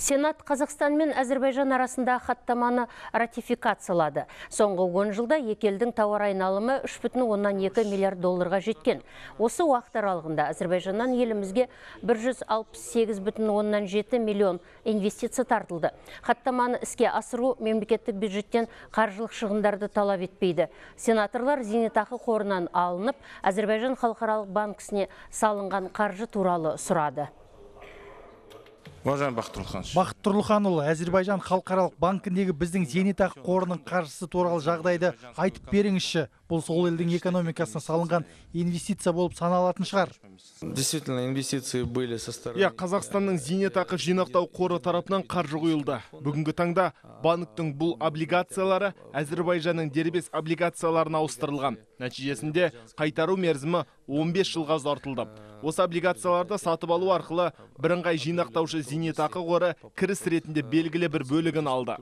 Сенат Қазақстан мен Әзербайжан арасында хаттаманы ратификациялады. Соңғы 10 жылда екі елдің тауар айналымы 3,2 миллиард долларға жеткен. Осы уақыт аралығында Әзербайжаннан елімізге 168,7 миллион инвестиция тартылды. Хаттаманы іске асыру мемлекеттік бюджеттен қаржылық шығындарды талап етпейді. Сенаторлар зейнетақы қорынан алынып, Әзербайжан халықаралық банкісіне салынған қаржы туралы сұрады. Бақыт Тұрлыханұлы, Әзербайжан халықаралық банкіндегі біздің зейнетақы қорының қаржысы туралы жағдайды айтып беріңізші. Бұл сол елдің экономикасына салынған инвестиция болып саналатын шығар. Қазақстанның зейнетақы жинақтау қоры тарапынан қаржы құйылды. Бүгінгі таңда банктің бұл облигациялары Әзербайжанның дербес облигацияларына ауыстырылған. Нәтижесінде қайтару мерзімі 15 жылға ұзартылды. Осы облигацияларды сатып алу арқылы бірыңғай жинақтаушы зейнетақы қоры кіріс ретінде белгілі бір бөлігін алды.